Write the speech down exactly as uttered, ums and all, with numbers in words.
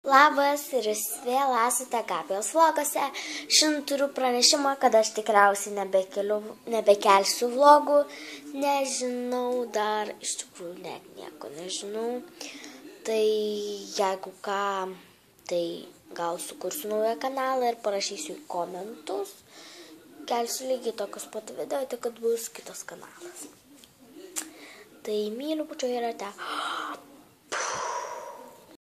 Labas ir jūs vėl esate Gabijos vloguose. Šiandien turiu pranešimą, kad aš tikriausiai nebekeliu, nebekelsiu vlogų. Nežinau, dar iš tikrųjų net nieko nežinau. Tai jeigu ką, tai gal sukursiu naują kanalą ir parašysiu į komentus. Kelsiu lygiai tokius pat video, tik kad bus kitas kanalas. Tai myliu, pučio ir ate.